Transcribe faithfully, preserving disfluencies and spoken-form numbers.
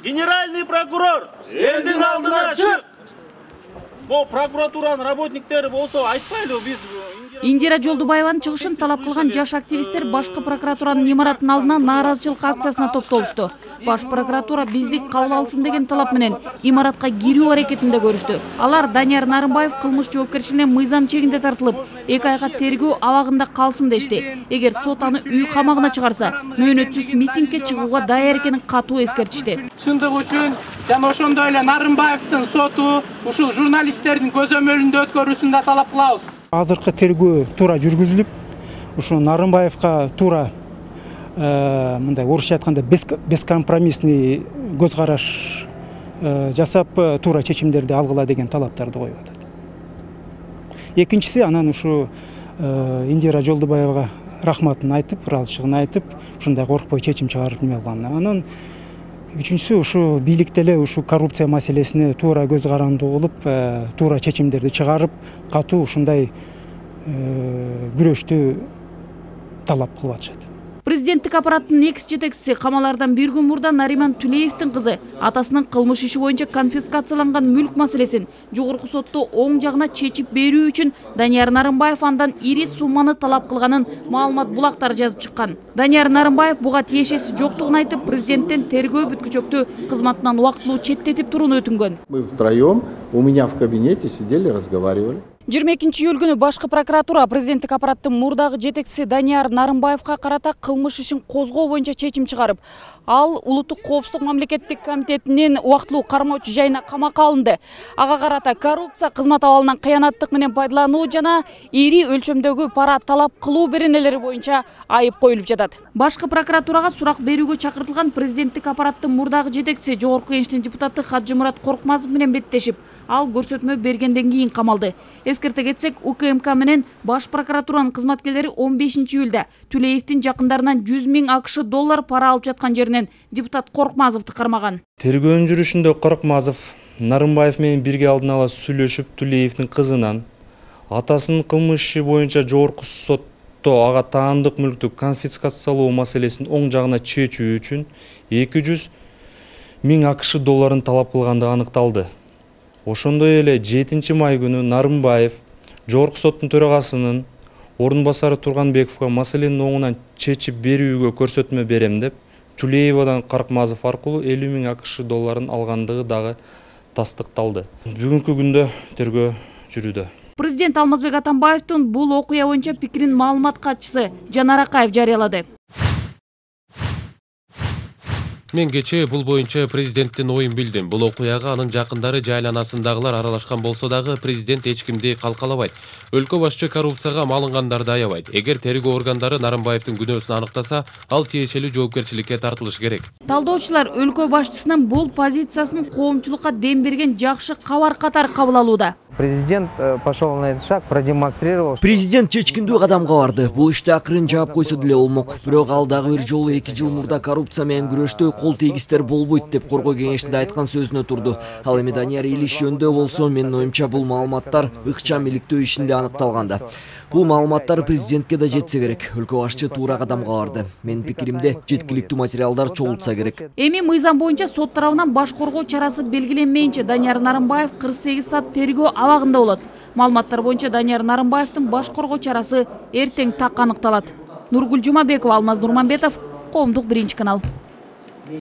Генеральный прокурор элдин алдына чык. Бу прокуратуранын работниктери болсо айтпайлыбы биз. Индира Жолдубаеванын чыгышын талап кылган жаш активисттер башкы прокуратуранын имаратынын алдына нааразычылык акциясына топтолушту. Баш прокуратура биздик кабыл алсын деген талап менен имаратка кирүү аракетинде көрүштү. Алар Данияр Нарымбаев кылмыш жоопкерчилигине мыйзам чегинде тартылып, эки айга тергөө абагында калсын дешти. Эгер сот аны үй камагына чыгарса, мөөнөтсүз митингге чыгууга даяр экенин катуу эскертишти. Чындык үчүн жана ошондой эле Нарымбаевдин соту ушул журналисттердин көзөмөлүндө өткөрүүсүн да талап кылабыз. Азыркы тергөө туура жүргүзүлүп, ушу Нарымбаевка туура мындай орусча айтканда бескомпромиссный көз караш жасап, туура чечимдерди алгыла деген талаптарды коюп атат. Экинчиси, анан ушу Индира Жолдубаевага рахматын айтып, ыраазычылыгын айтып, ушундай коркпой чечим чыгарып эме алганына. Анан үчүнчүсү, ушу бийликте эле ушу коррупция маселесине туура көз каранды кылып, туура чечимдерди чыгарып, катуу ушундай күрөштү талап кылып атышат. Президенттик аппараттын экс жетекчиси камалардан бир күн мурда Нариман Тулеевдин кызы атасынын кылмыш иши боюнча конфискацияланган мүлк маселесин жогорку сотто оң жагына чечип берүү үчүн Данияр Нарымбаев андан ири сумманы талап кылганын маалымат булактары жазып чыккан. Данияр Нарымбаев буга тиешеси жоктугун айтып, президенттен тергөө бүткүчөктү кызматынан убактылуу четтетип турууну өтүнгөн. Мы втроем у меня в кабинете сидели, разговаривали. жыйырма экинчи июль күнү башкы прокуратура президенттик аппараттын мурдагы жетекчиси Данияр Нарымбаевка карата кылмыш ишин козгоо боюнча чечим чыгарып, ал Улуттук коопсуздук мамлекеттик комитетинин убактылуу кармоочу жайына камакка алынды. Ага карата коррупция, кызмат абалынан кыянаттык менен пайдалануу жана ири өлчөмдөгү пара талап кылуу беренелери боюнча айып коюлуп жатат. Башкы прокуратурага сурак берүүгө чакыртылган президенттик аппараттын мурдагы жетекчиси Жогорку Кеңештин депутаты Хаджымурат Коркмазов менен беттешип, ал көрсөтмө бергенден кийин камалды. Эскерте кетсек, У К М К менен баш прокуратуранын кызматкерлери он бешинчи июлда Тулеевдин жакындарынан жүз миң АКШ доллар пара алып жаткан жеринен депутат Коркмазовду кармаган. Тергөөнүн жүрүшүндө Коркмазов Нарымбаев менен бирге алдын ала сүйлөшүп, Тулеевдин кызынан атасынын кылмыш иши боюнча жогорку сотто ага таандык мүлктү конфискациялоо маселесин оң жагына чечүү үчүн эки жүз миң АКШ долларын талап кылгандыгы аныкталды. Ошондой эле жетинчи май күнү Нарымбаев жогорку соттун төрагасынын ордун басары Турганбековго маселенин оңунан чечип берүүгө көрсөтмө берем деп, Тулеевадан Коркмазов аркылуу элүү миң АКШ долларын алгандыгы дагы тастыкталды. Бүгүнкү күндө тергөө жүрүүдө. Президент Алмазбек Атамбаевдин бул окуя боюнча пикирин маалымат катчысы Жанар Акаев жарыялады. Мен кечээ бул боюнча президенттин оюн билдим. Бул окуяга анын жакындары жайланасындагылар аралашкан болсо дагы президент эч кимди калкалабайт. Өлкө башчы коррупцияга малынгандарды аябайт. Эгер тергөө органдары Нарымбаевдин күнөөсүн аныктаса, ал тиешелүү жоопкерчиликке тартылышы керек. Талдоочулар өлкө башчысынын бул позициясын коомчулукка дем берген жакшы кабар катары кабыл алууда. Президент пошел на этот шаг, продемонстрировал. Президент чечкиндүү кадамга барды. Бул иште акырын жаап койсо деле болмок. Бирок ал дагы бир жолу эки жыл мурда коррупция менен күрөштө кол тийгистер болбойт деп коргоо кеңешинде айткан сөзүнө турду. Ал эми Данияр Илиш жөнүндө болсо, менин оюмча бул маалыматтар ыкчам иликтөө ишинде аныкталганда. Бул маалыматтар президентке да жетсе керек. Өлкө башчы туура кадамга барды. Менин пикиримде, жеткиликтүү материалдар чогултса керек. Эми мыйзам боюнча сот тарабынан баш коргоо чарасы белгиленмейинче Данияр Нарымбаев кырк сегиз саат тергөө абагында болот. Маалыматтар боюнча Данияр Нарымбаевдин баш коргоо чарасы эртең так аныкталат. Нургүл Жумабекова, Алмаз Нурманбетов, Коомдук биринчи канал.